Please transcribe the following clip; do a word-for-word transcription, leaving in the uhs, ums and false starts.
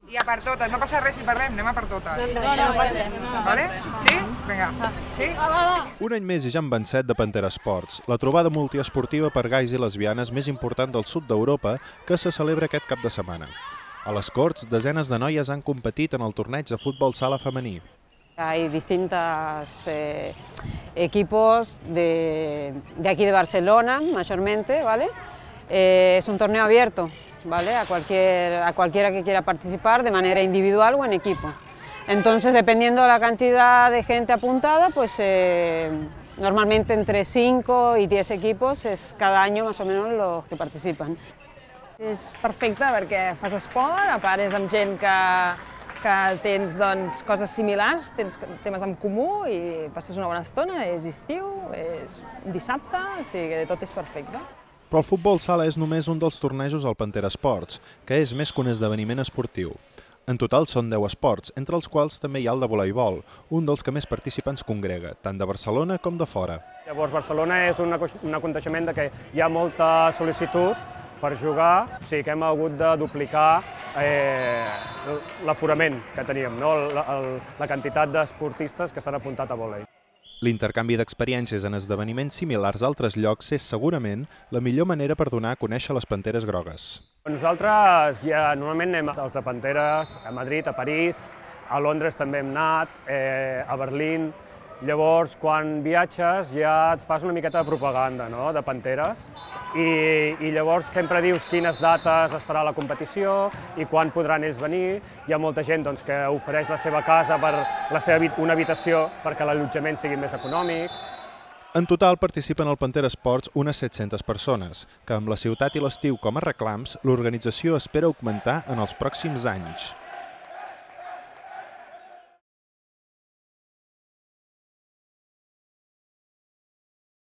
I a per totes, no passa res si perdem, anem a per totes. No, no, perdem. Vale? Sí? Vinga. Sí? Un any més i ja en vencet de Pantera Esports, la trobada multiesportiva per gais i lesbianes més important del sud d'Europa que se celebra aquest cap de setmana. A les Corts, desenes de noies han competit en el torneig de futbol sala femení. Hay distintos eh, equipos de, de aquí de Barcelona, mayormente, ¿vale? Eh, es un torneo abierto, ¿vale? A, cualquier, a cualquiera que quiera participar de manera individual o en equipo. Entonces, dependiendo de la cantidad de gente apuntada, pues eh, normalmente entre cinco y diez equipos es cada año más o menos los que participan. És perfecte perquè fas esport, a part és amb gent que, que tens doncs, coses similars, tens temes en comú i passes una bona estona, és estiu, és dissabte, o sigui que tot és perfecte. Però el futbol sala és només un dels tornejos al Pantera Esports, que és més que un esdeveniment esportiu. En total són deu esports, entre els quals també hi ha el de voleibol, un dels que més participants congrega, tant de Barcelona com de fora. Llavors, Barcelona és un aconteixement que hi ha molta sol·licitud per jugar, o sigui que hem hagut de duplicar eh, l'aforament que teníem, no? la, la quantitat d'esportistes que s'han apuntat a vòlei. L'intercanvi d'experiències en esdeveniments similars a altres llocs és segurament la millor manera per donar a conèixer les Panteres grogues. Nosaltres ja normalment anem als de Panteres, a Madrid, a París, a Londres també hem anat, eh, a Berlín. Llavors, quan viatges ja et fas una miqueta de propaganda, no?, de Panteres i, i llavors sempre dius quines dates es farà la competició i quan podran ells venir. Hi ha molta gent doncs, que ofereix la seva casa per la seva, una habitació perquè l'allotjament sigui més econòmic. En total participen al Pantera Esports unes set-centes persones, que amb la ciutat i l'estiu com a reclams, l'organització espera augmentar en els pròxims anys.